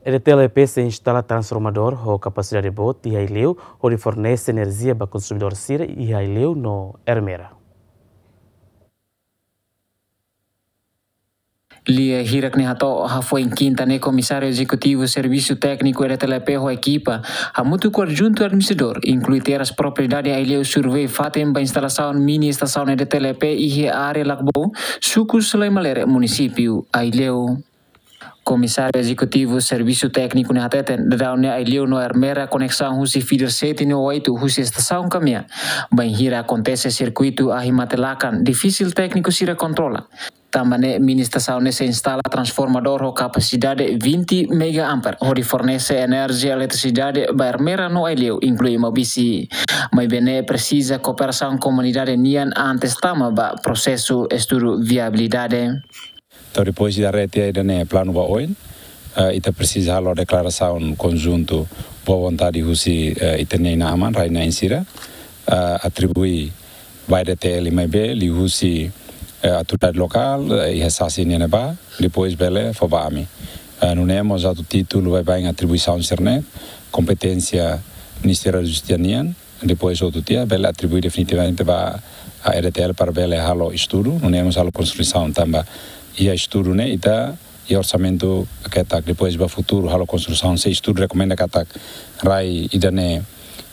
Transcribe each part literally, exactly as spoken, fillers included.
EDTL EP sei instala transformadór ho kapasidade boot iha Aileu, hodi fornese enerjia ba konsumidór sira iha Aileu no Ermera. Lia hirak ne'e hato'o, hafoin kinta ne'e Komisáriu Ezekutivu Servisu Tékniku EDTL EP ho ekipa, hamutuk ho adjuntu administradór, inklui Terras Propriedade Aileu, survei fatin ba instalasaun mini estasaun EDTL EP iha área Lakbou, suku Selai Malere, munisípiu Aileu. Komisáriu Ezekutivu Servisu Tékniku ne'e hateten, daudaun ne'e Aileu no Ermera koneksaun husi feeder sete no oito husi estasaun Kamea. Bainhira akontese sirkuitu ahi mate lakan, difisil tékniku sira kontrola. Tanba ne'e mini estasaun ne'e sei instala transformadór ho kapasidade vinte mega ampere, hodi fornese enerjia eletrisidade ba Ermera no Aileu, inklui Maubisse. Maibé ne'e presiza kooperasaun komunidade nian antes tama ba prosesu estudu viabilidade. Entaun, depois de arrete ida-ne'e planu ba oin, eh, ita presiza halo deklarasaun konjuntu boa vontade husi, eh, ita-nia inan-aman, rai-na'in sira, eh, atribui ba EDTL maibé liuhusi, eh, autoridade lokál, eh, iha sasi nian ne'ebá, depois bele fó ba ami. Eh, nune'e mós atu títulu baibain atribuisaun sira-ne'e, kompeténsia Ministériu da Justisa nian, depois outro dia bele atribui definitivamente ba EDTL para bele halo estudu, nune'e mós halo konstrusaun tanba iha estudu ne'e ita iha orsamentu ketak, depois ba futuru halo konstrusaun, se estudu rekomenda katak rai ida-ne'e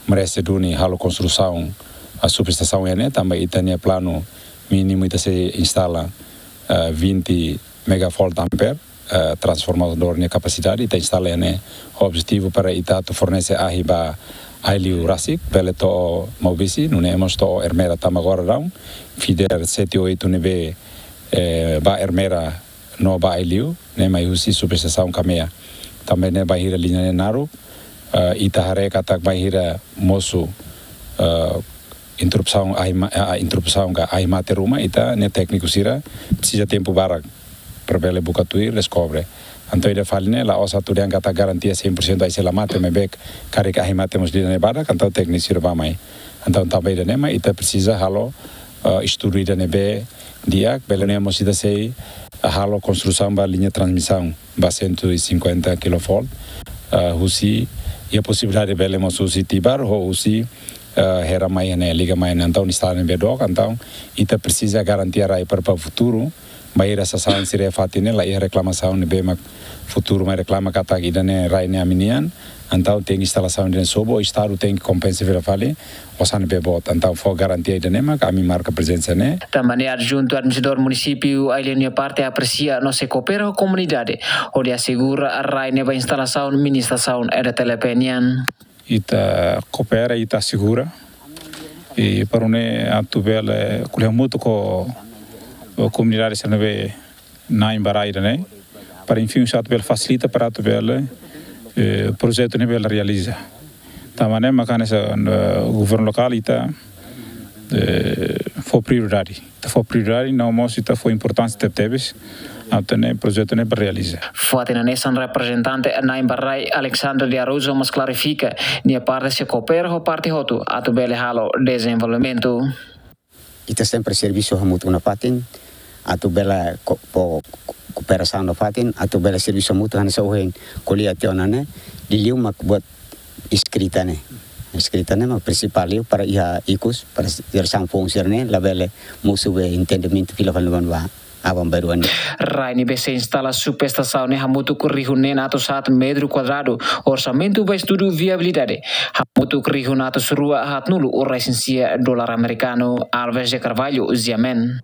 merese duni halo konstrusaun, ah, subestasaun iha ne'e, tanba ita-nia planu mínimu ita sei instala, ah, vinte megavolt ampere, eh, transformadór nia kapasidade, ita instala iha ne'e ho objetivu para ita atu fornese ahi ba Aileu rasik, bele to'o Maubisse, nune'e mós to'o Ermera tanba agora daudaun feeder sete oito ne'ebé, eh, ba Ermera no ba Aileu, ne'e mai husi subestasaun Kamea. Tanba ne'e bainhira liña ne'e naruk, eh, ita haree katak bainhira mosu, eh, interrupsaun ahi ma-, ah, interrupsaun ka ahi mate ruma, ita-nia tékniku sira presiza tempu barak para bele buka tuir, deskobre. Entaun ida fali ne'e la'ós atu dehan katak garantia cem por cento ahi sei la mate, maibé karik ahi mate mós ida-ne'e badak, entaun tékniku sira bá mai. Entaun tanba ida-ne'e mak ita presiza halo, eh, estudu ida ne'ebé di'ak, bele ne'e mós ita sei halo konstrusaun ba liña transmisaun ba cento e cinquenta kilovolt, eh, husi, iha posibilidade bele mós husi Tibar, ho husi, eh, Hera mai ne'e, liga mai ne'e, entaun estrada ne'ebé dook, entaun ita presiza garantia rai para, para futuru, bainhira sasán sira iha fatin ne'e la iha reklamasaun ne'ebé mak futuru mai reklama katak ida-ne'e rai ne'e ami-nian, entaun tenke instalasaun ida-ne'e sobu, Estadu tenke kompensa fila fali osan ne'ebé boot, entaun fó garantia ida-ne'e mak ami marka prezensa ne'e. Tanba ne'e adjuntu administradór munisípiu Aileu nia parte apresia no sei koopera ho komunidade, hodi asegura rai ne'e ba instalasaun mini estasaun EDTL EP nian. Ita koopera, ita asegura. I para nune'e atu bele ko'alia hamutuk ho, ho komunidade sira ne'ebé na'in ba rai ida-ne'e. Para, enfin, atu bele fasilita para atu bele, eh, projetu ne'e bele realiza. Tanba ne'e mak hanesan, eh, governu lokál ita, eh, fó prioridade. Ita fó prioridade, no mós ita fó importánsia tebetebes atu nune'e projetu ne'e bele realiza. Fatin hanesan reprezentante na'in ba rai Alexandre de Araújo mós klarifika, nia parte sei koopera ho parte hotu atu bele halo dezenvolvimentu. Ita sempre servisu hamutuk nafatin, atu bele ko-, fó ko-, kooperasaun nafatin, atu bele servisu hamutuk hanesan ohin ko'alia tiha ona ne'e, liuliu mak buat eskrita ne'e. Eskrita ne'e mak prinsipál liu para iha ikus, para jerasaun foun sira-ne'e labele mosu be entendimentu fila fali ba aban-bainrua nian. Rai ne'ebé sei instala subestasaun ne'e hamutuk rihun neen atus haat metru kuadradu, orsamentu ba estudu viabilidade hamutuk rihun atus rua haatnulu resin sia dolar amerikanu. Alves de Carvalho, Ziamen.